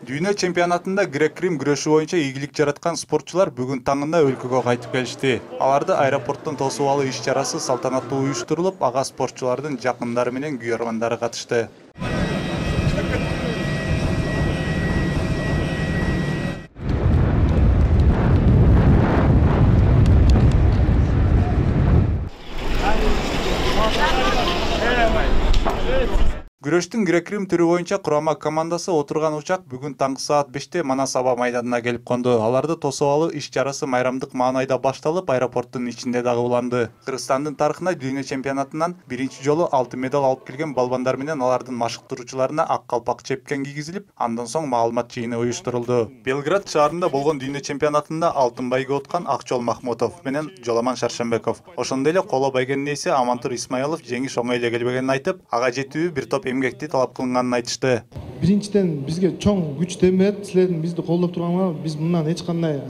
Дүйнө чемпионатында грек-рим күрөшү боюнча ийгилик жараткан спортчулар бүгүн таңында өлкөгө кайтып келишти. Аларды аэропорттон тосуп алуу иш-чарасы салтанаттуу уюштурулуп, ага спортчулардын жакындары менен күйөрмандары катышты. Күрөштүн грек-рим түрү боюнча курама командасы отурган учак бүгүн таңкы саат 5-те Манас аба майданына келип конду. Аларды тосуп алуу иш-чарасы майрамдык маанайда башталып, аэропорттун ичинде дагы уланды. Кыргызстандын тарыхына дүйнө чемпионатынан биринчи жолу алтын медаль алып келген балбандар менен алардын машыктыруучуларына ак калпак чепкен кийгизилип, андан соң маалымат жыйыны уюштурулду. Белград шаарында болгон дүйнө чемпионатында алтын байге уткан Акчол Махмутов менен Жоламан Шаршембеков, ошондой эле коло байгенин ээси Амантур Исмаилов жеңиш оңой эле келбегенин айтып, ага жетүү бир топ эмгекти талап кылынганын айтышты. Биринчиден бизге чоң күч демет, силердин бизди колдоп турганыңар, биз мындан эч кандай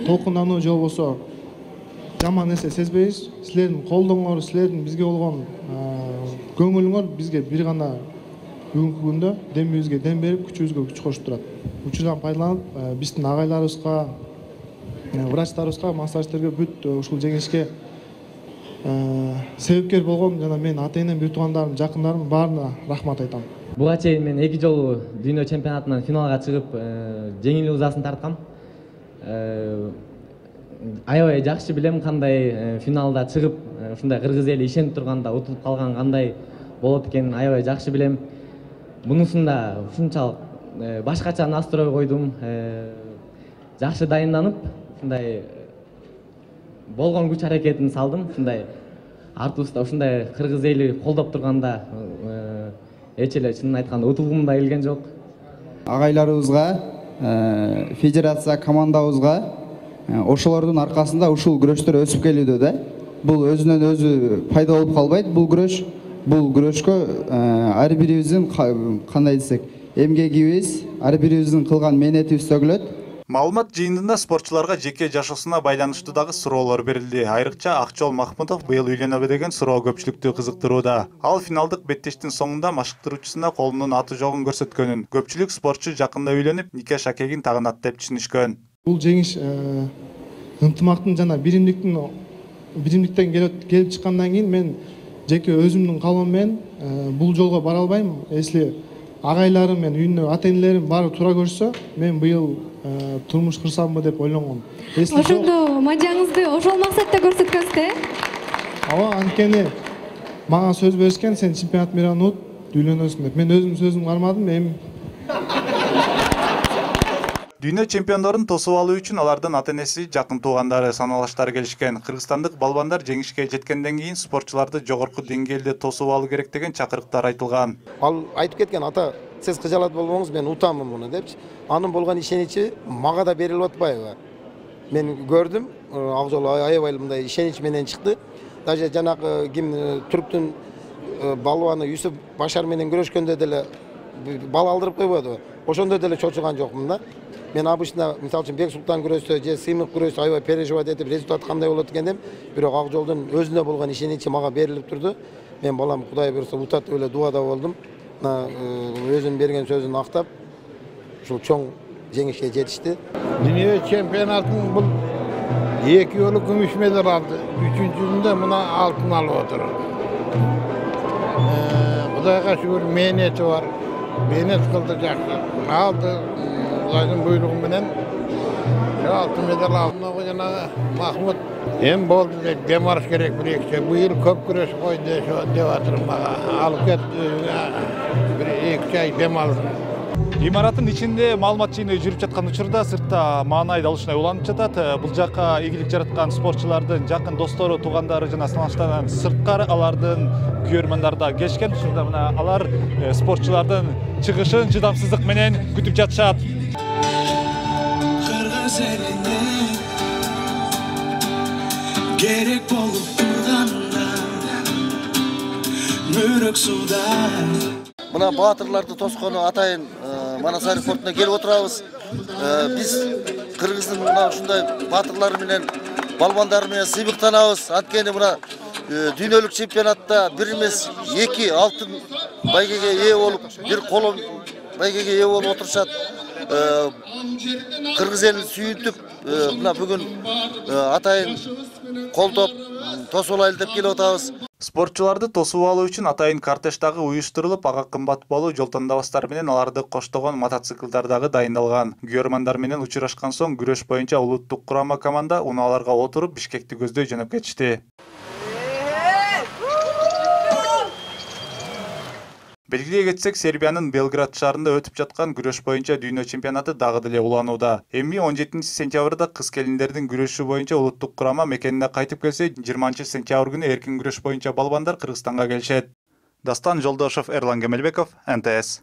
толкундануу же болбосо жаман нерсе сезбейбиз. Силердин колдооңор, силердин бизге болгон көңүлүңөр бизге бир гана бүгүнкү күндө демибизге дем берип, күчүбүзгө күч кошуп турат. Учурдан пайдаланып, биздин агайларыбызга, врачтарыбызга, массажисттерге бүт ушул жеңишке себепкер болгон жана мен ата-энем, бир туугандарым, жакындарым баарына рахмат айтам. Буга чейин мен 2 жолу дүйнө чемпионатынан финалга чыгып, жеңил узасын тарткам. Аябай жакшы билем кандай финалда чыгып, ушундай кыргыз эли ишенип турганда утулуп калган кандай болот экенин аябай жакшы билем. Бунусунда ушунчалык башкача настрой койдум. Жакшы дайынданып, ушундай болгон күч аракетин салдым. Ушундай артыбызда ушундай кыргыз эли колдоп турганда эч эле чынын айтканда утулгум да келген жок. Агайларыбызга, федерация командабызга ошолордун аркасында ушул күрөштөр өсүп келүүдө да. Бул өзүнөн өзү пайда болуп калбайт. Бул күрөшкө ар бирибиздин кандай десек, эмгегибиз, ар бирибиздин кылган мээнетибиз төгүлөт. Маалымат жыйынында спортчуларга жеке жашоосуна байланыштуу дагы суроолор берилди. Айрыкча Акчол Махмутов быйыл үйлөнөбү деген суроо көпчүлүктү кызыктырууда. Ал финалдык беттештин соңунда машыктыруучусуна колунун аты жогун көрсөткөнүн, көпчүлүк спортчу жакында үйлөнүп, нике шакегин тагынат деп түшүнүшкөн. Бул жеңиш ынтымактын жана биримдиктен келип чыккандан кийин мен жеке өзүмдүн калоом менен бул жолго бара албайм. Если агайларым менен үйүндө ата-энелерим баары туура көрсө, мен быйыл турмуш курсамбы деп ойлонгом. Ошондо мажаңызды ошол максатта көрсөткөнсүз, Ооба, анткени мага сөз беришкен, сен чемпионат мейрамын унут, үйлөнөсүң деп. Мен өзүм сөзүмдү кармадым, эми Дүйнө чемпиондорун тосуп алуу үчүн алардын ата-энеси, жакын туугандары, саналаштары келишкен. Кыргызстандык балбандар жеңишке жеткенден кийин спортчуларды жогорку деңгээлде тосуп алуу керек деген чакырыктар айтылган. Ал айтып кеткен, ата, сиз кыжалат болбоңуз, мен утамын муну депчи. Анын болгон ишеничи мага да берилип атпайбы? Мен көрдүм, Акжол аябай мындай ишенич менен чыкты. Даже жанагы ким түрктүн балбаны Юсуп Башар менен күрөшкөндө деле бал алдырып койбодубу? Ошондо деле чочуган жокмун да. Мен обычно, мисалы үчүн Бек Султан күрөштө же Сыймык күрөштө аябай переживать этип, результат кандай болот экен деп, бирок Акжолдун өзүнө болгон ишеничи мага берилип турду. Мен балам Кудай буйруса утат деп эле дуада болдум. Өзүнүн берген сөзүн актап, ушул чоң жеңишке жетишти. Дүйнө чемпионатын бул 2 жолу күмүш медаль алды. 3-жүсүндө мына алтын алып отур. Кудайга шүгүр, мээнети бар. Мээнет кылды, жакшы алды. Кудайдын буйругу менен алтын медаль алды. Жанагы Махмут эми болду деп дем алыш керек, бир-эки быйыл көп күрөш кой деп атыр мага. Алып кет, бир 2 ай дем алсын. Имараттын ичинде маалымат жыйыны жүрүп жаткан учурда сыртта маанай далышынай уланып жатат. Бул жакка ийгилик жараткан спортчулардын жакын достору, туугандары жана саналаштардан сырткары алардын күйөрмандары да келишкен. Ушунда мына алар спортчулардын чыгышын чыдамсыздык менен күтүп жатышат. Кыргыз элине керек болуп турганда мөрөк суда. Мына баатырларды тоскону атайын Манас аэропортуна келип отурабыз. Биз Кыргыздын мына ушундай баатырлары менен, балбандары менен сыймыктанабыз. Анткени мына дүйнөлүк чемпионатта бир эмес 2 алтын байгеге ээ болуп, бир коло байгеге ээ болуп отурушат. кыргыз элин сүйүнтүп мына бүгүн атайын колдоп тосуп алайлы деп келип атабыз. Спортчуларды тосуп алуу үчүн атайын кортеж дагы уюштурулуп, ага кымбат болуу жол тандабастар менен аларды коштогон мотоциклдар дагы дайындалган. Күйөрмандар менен учурашкан соң күрөш боюнча улуттук курама команда унааларга отуруп Бишкекти көздөй жөнөп кетишти. Белгилей кетсек, Сербиянын Белград шаарында өтүп жаткан күрөш боюнча дүйнө чемпионаты дагы деле уланууда. Эми 17-сентябрда кыз келиндердин күрөшү боюнча улуттук курама мекенине кайтып келсе, 20-сентябрь күнү эркин күрөш боюнча балбандар Кыргызстанга келишет. Дастан Жолдошов, Эрлан Кемелбеков, НТС.